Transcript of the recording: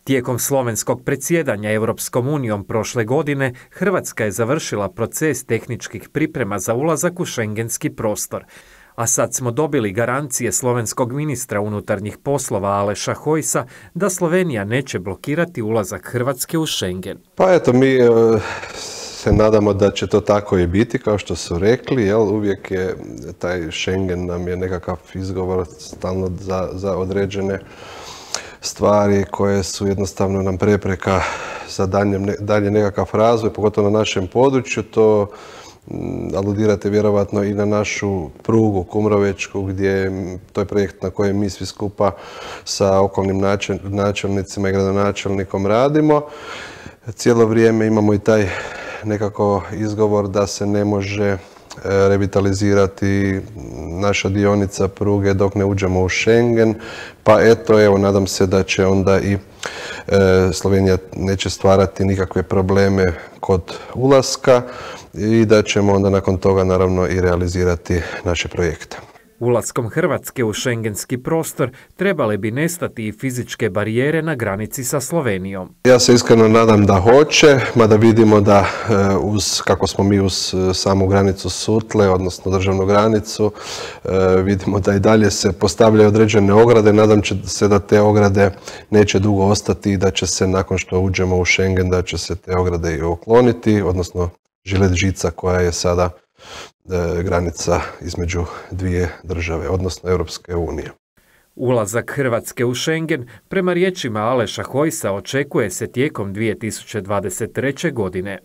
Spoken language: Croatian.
Tijekom slovenskog predsjedanja Europskom unijom prošle godine, Hrvatska je završila proces tehničkih priprema za ulazak u šengenski prostor. A sad smo dobili garancije slovenskog ministra unutarnjih poslova Aleša Hojsa da Slovenija neće blokirati ulazak Hrvatske u Schengen. Pa eto, mi se nadamo da će to tako i biti, kao što su rekli, uvijek je taj Schengen nam je nekakav izgovor stalno za određene stvari koje su jednostavno nam prepreka za dalje nekakav razvoj, pogotovo na našem području. To aludirate vjerovatno i na našu prugu Kumrovečku, gdje to je projekt na kojem mi svi skupa sa okolnim načelnicima i gradonačelnikom radimo. Cijelo vrijeme imamo i taj nekako izgovor da se ne može revitalizirati naša dionica pruge dok ne uđemo u Schengen, pa evo, nadam se da će onda i Slovenija neće stvarati nikakve probleme kod ulaska i da ćemo onda nakon toga naravno i realizirati naše projekte. Ulaskom Hrvatske u šengenski prostor trebale bi nestati i fizičke barijere na granici sa Slovenijom. Ja se iskreno nadam da hoće, mada vidimo da kako smo mi uz samu granicu Sutle, odnosno državnu granicu, vidimo da i dalje se postavljaju određene ograde. Nadam se da te ograde neće dugo ostati i da će se nakon što uđemo u Schengen da će se te ograde i ukloniti, odnosno žilet žica koja je sada granica između dvije države, odnosno Europske unije. Ulazak Hrvatske u Schengen, prema riječima Aleša Hojsa, očekuje se tijekom 2023. godine.